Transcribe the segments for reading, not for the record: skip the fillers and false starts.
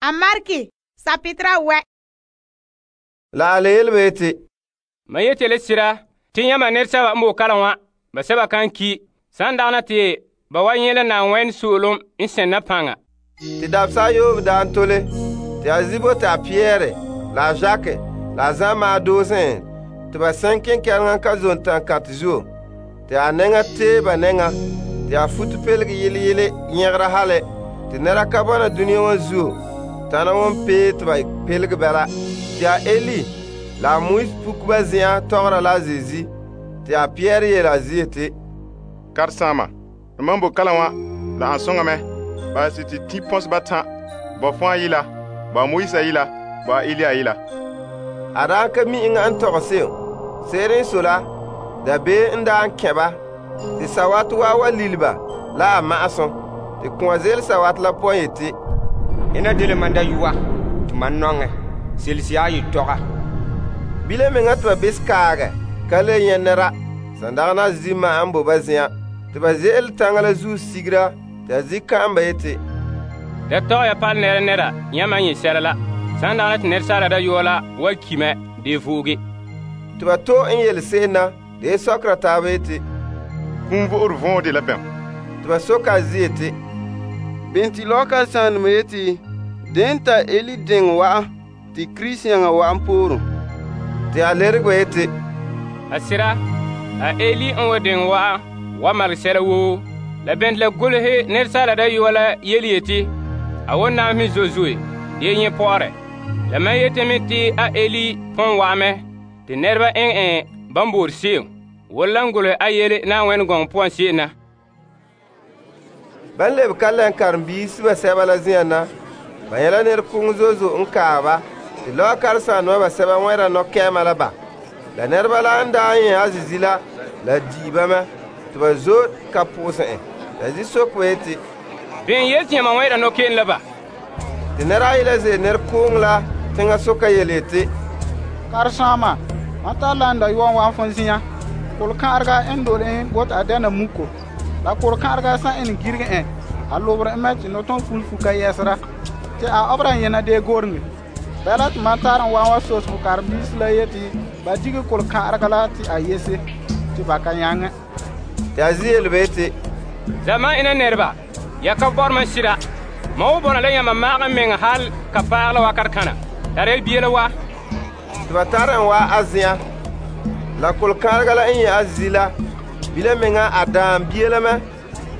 A Marki, sapitra wɛ. La a le yele yeti, Ma yeti le sira te yãmba nɛresɛba n boe kalam wa, ba sɛba kan ki, san dagana te ba wa nyɛ la Na'ayenɛ so'olom n sɛnna paŋa. te dabesa ayoobe daa n tole, te a zibo te a Pierre, la a Jacques, la a Zan maa doose te ba sɛn kenkɛleŋa ka zon tankantɛ zuo, te a nɛŋa tee ba nɛŋa, te a futo pelige yele nyɛgera hale, te nɛra ka bɔna dunia wa zuo, tana wan pee te ba pelige bɛla. Te a Eli la a Moise pukuba zen'an tɔgɔra la a Zeezi, te a Pierre yele a zi yeti, Karesaama, mam bo kalam wa, la an soŋa mɛ. Ba si te ti pɔnse batan, ba fɔa yila, ba Moise yila, ba Eli yila. A daa ka mi eŋa n tɔgɛ se'em. Se'ere n sɔe la, dabeem n daa n kɛ ba, te sawate wa lili ba la a ma'asum. Te kɔn ze'ele sawate la poan yeti, Ena dela man dayɔa, te man nɔŋɛ, selesi a yetɔga. Bile meŋa te ba bes kaagɛ, ka le nyɛ nɛra, sandagana zi ma'an bo ba zen'an. Te ba ze'ele taŋa la zuo sigera, te a zi ka'an ba yeti, Da tɔgɛ ya pal nɛra yãmba n nyɛ sɛla la. San dagana te nɛresaala dayɔa la wa ki mɛ dee vooge. te ba to n yele se'em na, de sɔkera taaba yeti, Kum vo'ore vɔɔ de la bɛm. te ba soka a zi yeti, benti lɔka sãanema yeti, den ta Eli deŋɔ wa'an, te Kirisi yaŋa wa'an poorum. Te a lerege ba yeti, A sira, a Eli n wa deŋ wa'an wa malege sɛla woo. La bɛnte la golehɛ nɛresaala dayɔa la yele yeti, a wa naam me zoe zoe, dee nyɛ pɔgɔrɛ. La mam yeti me te a Eli pon wa'an mɛ, te nɛreba eŋ ban boore se'em, wala lan golehɛ a yele Na'ayenɛ gɔŋɔ poan se'em na. ban lebe ka lɛn karenbiisi siba sɛba la zen'an na, ba nyɛla nɛrekoŋɔ zo'e zo'e n kaa ba, te lɔɔ karesaaneba basɛba wẽra nɔkɛɛma la ba. La nɛreba la n daa nyɛ a zizi la di'i ba mɛ, te ba zo ka pʋgɛsɛ en. La zi sok ba yeti, Bɩn yel tɩ yãmba wẽ'ra nɔkeen la ba. te nɛra ayi la ze'ele nɛrekooŋɔ la teŋa soka yele yeti, Karesaama, mam tara la n dayɔa wa fõn zĩã. Kolkã'arega n dole en bot a dɛna muko. La kolkã'arega sã n girige en, a lobre n mɛ tɩ nɔtɔn fulfu ka yɛsera, tɩ a obra n yẽna dee goreŋe. Bɛla tɩ mam tar n wa wa sos fo karen-biisi la yeti ba dige kolkã'arega la tɩ a yese, tɩ ba ka yãŋɛ. te a zi yele ba yeti, Zaman ina nɛreba, ya ka bɔr man sira. Ma wo bɔna la yãmba maag n meŋa hal ka paag la wakat kãna. Tara yel bia la wa. te ba tar n wa a zen'an. La kolkãarega la n yẽ a zi la, bila meŋa a daam bia la mɛ,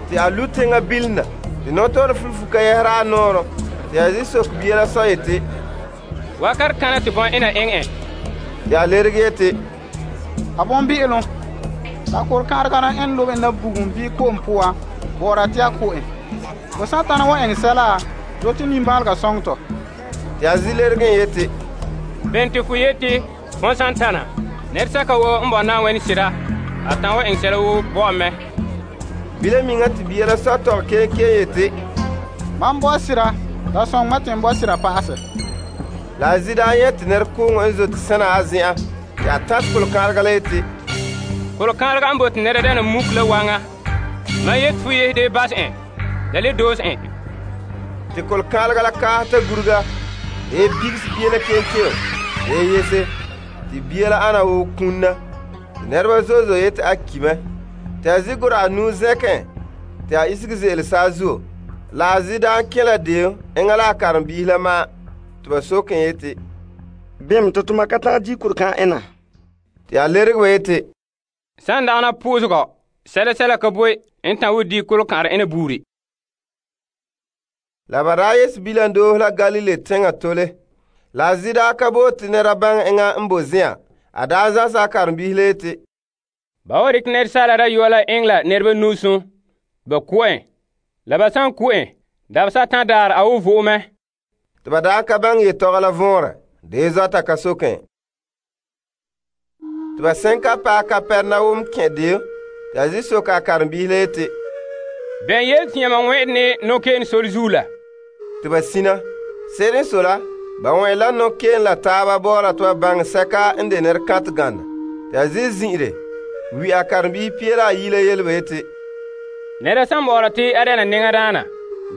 te a lu teŋa bilina, te nɔtɔɔrɛ fulfu ka yɛsera a nɔɔrɔ. Te a zi sok bia la sɔ yeti, Wakat kãna tɩ bõn ina eŋ en. te a lerege yeti, A bõn-bi'ilem, la kolkã'arega la n lobe na bugum bii ko'om puan, bɔɔra tɩ a ko en. Fo sã n tãna wa ɛŋ sɛla, do tɩ nimbãalega sõng tɔ. te a zi lerege n yeti, Bɩn tɩ fo yeti, fõn sã n tãna, nɛresɛka woo n bɔ Na'ayenɛ sira, a tãn wa eŋ sɛla woo bɔ'ɔm mɛ. bila miŋa te bia la sɔ tɔg keen yeti, Mam bɔ sira, la sõng ma tɩ n bɔ sira pa'asɛ. la a zi daa nyɛ te nɛrekooŋɔ n zo te sẽna a zen'an, te a tãt kolkãarega la yeti, Kolkãarega n bot nɛra dɛna muk la waŋa. Man yet fo yesde bas en, la le doos en. te kolkãarega la kaas ta gurga, de bigsi bia la keen de yese, te bia la ana wo kũnna. Te nɛreba zo'e zo'e yeti a ki mɛ. Te a zi gora a nuu zɛkẽ, te a isege ze'ele saazuo. La a zi daa n kẽ la deem eŋa la a karen-biisi la maa, te ba sok n yeti, Bɩm tɩ tʋma ka tag di kurkã ẽna. te a lerege ba yeti, Sãn dagana pʋʋsgɔ, sɛla ka boe n tã wo di kolkãar ẽna buuri. la ba daa yes bilam doos la Galile teŋa tole. La a zi daa ka bo te nɛra baŋɛ eŋa n bo zẽa. A daa zãsa a karen-biisi la yeti, Ba wa dɩk nɛresaala dayɔa la eŋ la nɛreba nuusum, ba ku en. La ba sãn ku en, dabesa tã daar a wo vo'e mɛ. te ba daa ka baŋɛ yetɔgɔ la võorɛ, dee zɔta ka sokẽ. Te ba sẽn ka paɛ Kapɛrnawum kẽ deo, te a zi sok a karen-biisi la yeti, Bɛn yel tɩ yãmba wẽ'd ne nɔkeen sor zuo la. te ba sina. Se'ere n sɔe la, ba wẽ la nɔkeen la taaba bɔɔra tɩ ba baŋɛ sɛka n de nɛrekãtɛ gãnda. Te a zi zĩ'ire, wi a karen-biisi pia la ayi la yele ba yeti, Nɛra sãn bɔɔra tɩ a dɛna neŋa daana,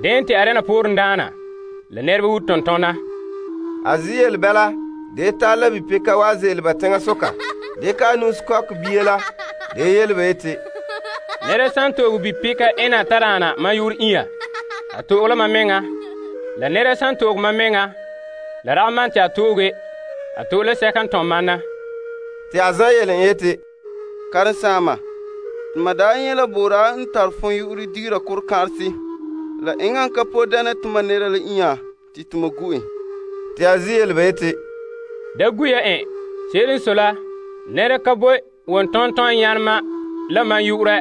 deen tɩ a dɛna pooren daana. la nɛreba woo tontona. A zi yelebɛla de tara la bipeka wa ze'ele ba teŋasoka. De ka nus kɔk bie la de yele ba yeti, Nɛra san to'oge bipeka ena tadaana mam yuur inya, a to'oge la mam meŋa. La nɛra san to'oge mam meŋa, la ragom man te a to'oge, a to'e la sɛka n tom mam na. Te a zan yele en yeti, Karensaama, te ma daa nyɛ la boora n tare fon yu'urɛ digera korkã'aresi. La eŋa n ka po dɛna te ma nera la inya te te ma gu en. Te a zi yele ba yeti, Da gu ya en, se'ere n sɔe la, nɛra ka boe wontɔntɔn yãnema la mam yu'urɛ.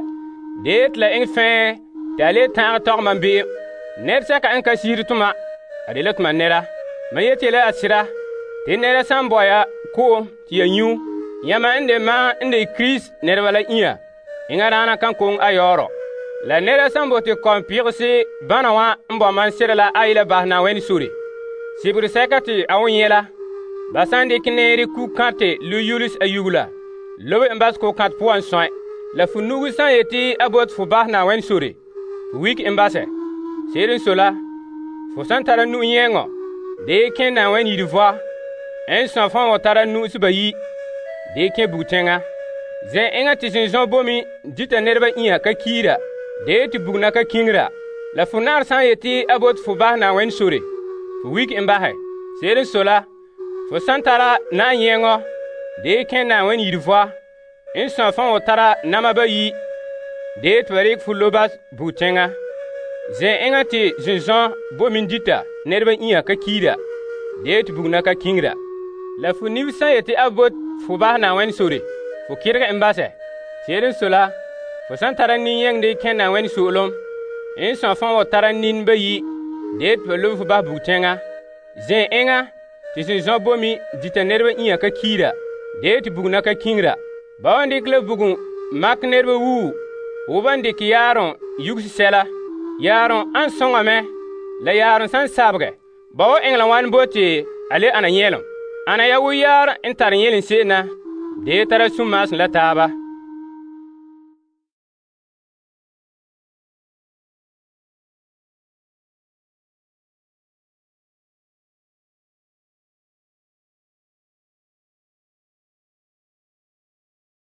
Dee te la eŋɛ fɛɛ te a le ta'age tɔgɛ mam be'em. Nɛresɛka n ka sihiri toma, a de la toma nɛra. Mam yeti la a sera, te nɛra san bɔ ya ko'om te ya nyu, yãma n de mam n de Kirist nɛreba la inya, eŋa daana kan koŋe a yɔɔrɔ. La nɛra san bote kɔm pɩgese bãna wã n bɔ mam sera la a yela basɛ Na'ayenɛ sore. Sibire sɛka te a won nyɛ la, ba san dikɛ nɛɛre ku-kãte Luyulus a yugu la, lobe n basɛ ko-kãte poan sɔe. La fu nugu san yeti a bote fo basɛ Na'ayenɛ sore, fu wik n basɛ. Se'ere n sɔe la, fo san tara nu'u yɛŋɔ, dee kẽ Na'ayenɛ yire vɔa, n sɔn fãa wa tara nu'usi bayi, dee kẽ bugtɛŋa. Zɛn eŋa te zenzɔn bomi dita nɛreba inya ka kiira, dee te bugna ka kiŋira. La fu naar san yeti a bote fo basɛ Na'ayenɛ sore, fu wik n basɛ. Se'ere n sɔe la, fo san tara na'an yɛŋɔ, dee kẽ Na'ayenɛ yire vɔa, n sɔn fãa wa tara nama bayi, dee te ba rekɛ fo lo bas bugtɛŋa. Zɛn eŋa te zenzɔn bomi dita nɛreba inya ka kiira, dee te bugna ka kiŋira. La fu nib san yeti a bote fo basɛ Na'ayenɛ sore, fo kɩrgɛ n basɛ. Se'ere n sɔe la, fo san tara nin-yɛŋde kẽ Na'ayenɛ so'olem, n sɔn fãa wa tara nin bayi, dee te ba lobe fo basɛ bugtɛŋa. Zɛn eŋa te zenzɔn bomi dita nɛreba inya ka kiira, dee te bugna ka kiŋira. Ba wan dikɛ la bugum makɛ nɛreba wuu, wo ban dikɛ yaarom yuguse sɛla. Yaarom an soŋa mɛ, la yaarom san sabegɛ, ba wa eŋɛ la wan bote a le ana nyɛlem. Ana ya wo yaar n tare nyɛlem se'em na, dee tara sunma'asem la taaba.